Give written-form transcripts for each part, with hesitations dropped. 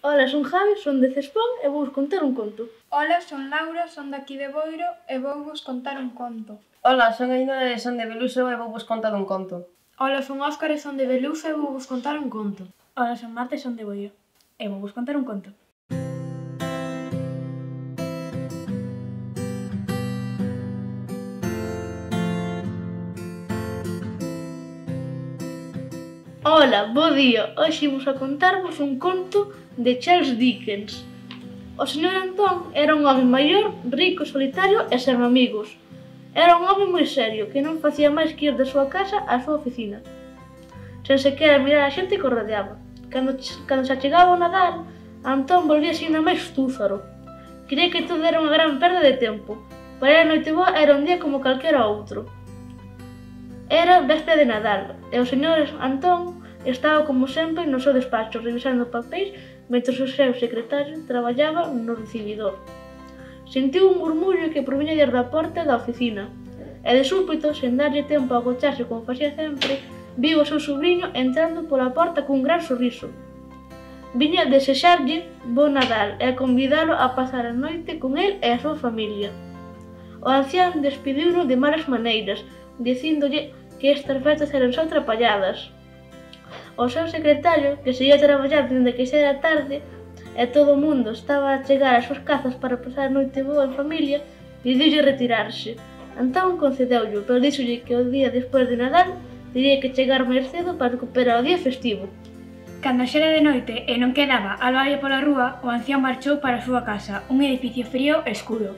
Ola, son Javi, son de Cespón e vou vos contar un conto. Ola, son Laura, son daqui de Boiro e vou vos contar un conto. Ola, son Ainhoa e son de Beluso e vou vos contar un conto. Ola, son Óscar e son de Beluso e vou vos contar un conto. Ola, son Marta e son de Boiro e vou vos contar un conto. Ola, bo día! Hoxe imos a contarvos un conto de Charles Dickens. O señor Antón era un home maior, rico, solitario e sen amigos. Era un home moi serio, que non facía máis que ir da súa casa á súa oficina, sen sequera mirar a xente que o rodeaba. Cando se achegaba o Nadal, Antón volvíase ainda máis túzaro. Cría que todo era unha gran perda de tempo. Para ele a Noiteboa era un día como calquera outro. Era véspera de Nadal, e o señor Antón estaba como sempre no seu despacho, revisando papéis, mentre o seu secretario traballaba no recibidor. Sentiu un murmullo que proviña desde a porta da oficina, e de súpeto, sen darlle tempo a agocharse como facía sempre, viu o seu sobrinho entrando pola porta cun gran sorriso. Viña desexarlle bo Nadal e a convidalo a pasar a noite con el e a súa familia. O ancián despediuno de malas maneiras, dicíndolle que estas festas eran só atrapalladas. O seu secretario, que seguía a traballar dende que xa era tarde e todo o mundo estaba a chegar ás súas casas para pasar a noite boa en familia, pediulle retirarse. Antón concedeulle, pero díxolle que o día despois de Nadal tería que chegar máis cedo para recuperar o día festivo. Cando xa era de noite e non quedaba albaia pola rúa, o ancián marchou para a súa casa, un edificio frío e escuro.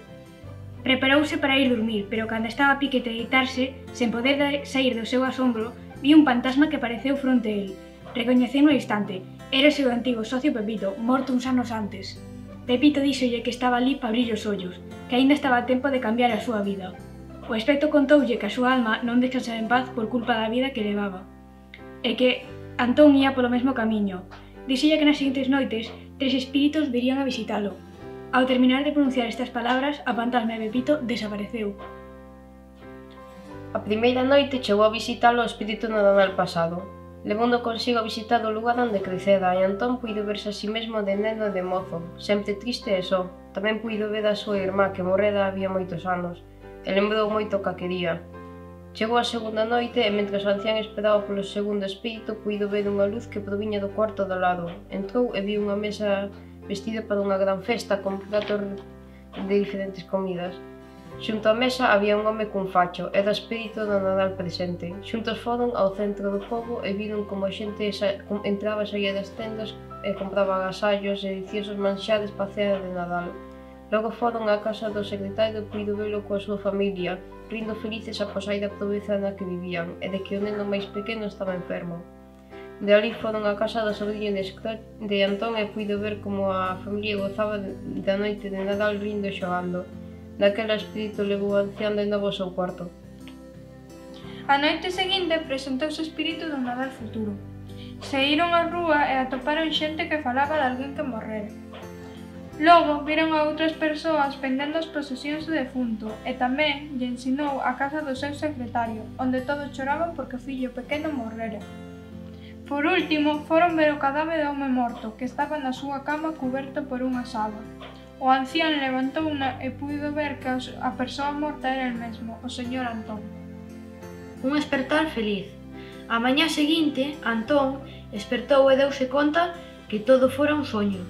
Preparouse para ir dormir, pero cando estaba a pique de deitarse, sen poder sair do seu asombro, viu un fantasma que apareceu fronte a el. Recoñeceu no instante. Era o seu antigo socio Pepito, morto uns anos antes. Pepito díxolle que estaba ali para abrir os ollos, que aínda estaba a tempo de cambiar a súa vida. O espectro contoulle que a súa alma non descansaba en paz por culpa da vida que levaba, e que Antón ía polo mesmo camiño. Díxolle que nas seguintes noites 3 espíritos virían a visitalo. Ao terminar de pronunciar estas palabras, a fantasma de Pepito desapareceu. A primeira noite chegou a visitalo o espírito no Nadal pasado. Levando consigo a visitar o lugar onde crecera e Antón puido verse a si mesmo de neno e de mozo, sempre triste e só. Tamén puido ver a súa irmá que morrera había moitos anos, e lembrou moito que a quería. Chegou a segunda noite e mentres o ancián esperaba polo segundo espírito puido ver unha luz que proviña do cuarto do lado. Entrou e viu unha mesa vestida para unha gran festa con pratos de diferentes comidas. Xunto á mesa había un home cun facho, era o espírito do Nadal presente. Xuntos foron ao centro do pobo e viron como a xente entraba e saía das tendas e compraba agasallos e deliciosos manxares para a cena de Nadal. Logo foron á casa do secretario e puido velo coa súa familia, rindo felices após a da pobreza na que vivían e de que o neno máis pequeno estaba enfermo. De ali foron á casa do sobrinho de Antón e puido ver como a familia gozaba da noite de Nadal rindo e xogando. Daquela espírito levou o ancián de novo ao seu cuarto. A noite seguinte presentouse o espírito do Nadal futuro. Saíron á rúa e atoparon xente que falaba de alguén que morrera. Logo viron a outras persoas pendendo as procesións do defunto e tamén lle ensinou a casa do seu secretario, onde todos choraban porque o fillo pequeno morrera. Por último, foron ver o cadáver do home morto, que estaba na súa cama cuberto por unha sábana. O ancián levantouna e puido ver que a persoa morta era el mesmo, o señor Antón. Un espertar feliz. A mañá seguinte, Antón espertou e deuse conta que todo fora un soño.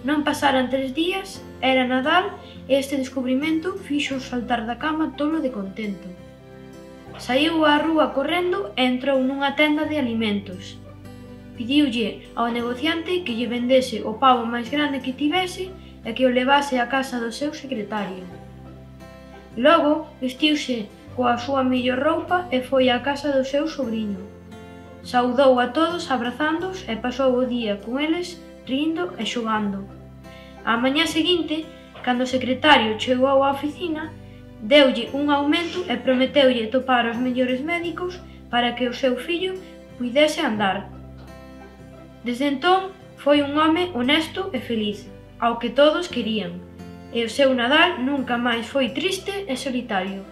Non pasaran 3 días, era Nadal e este descubrimento fixo saltar da cama tolo de contento. Saíu á rúa correndo e entrou nunha tenda de alimentos. Pediulle ao negociante que lle vendese o pavo máis grande que tivese e que o levase á casa do seu secretario. Logo, vestiuse coa súa mellor roupa e foi á casa do seu sobrinho. Saudou a todos abrazándoos e pasou o día con eles rindo e xogando. Á mañá seguinte, cando o secretario chegou á oficina, deulle un aumento e prometeulle topar os mellores médicos para que o seu fillo puidese andar. Desde entón, foi un home honesto e feliz, ao que todos querían, e o seu Nadal nunca máis foi triste e solitario.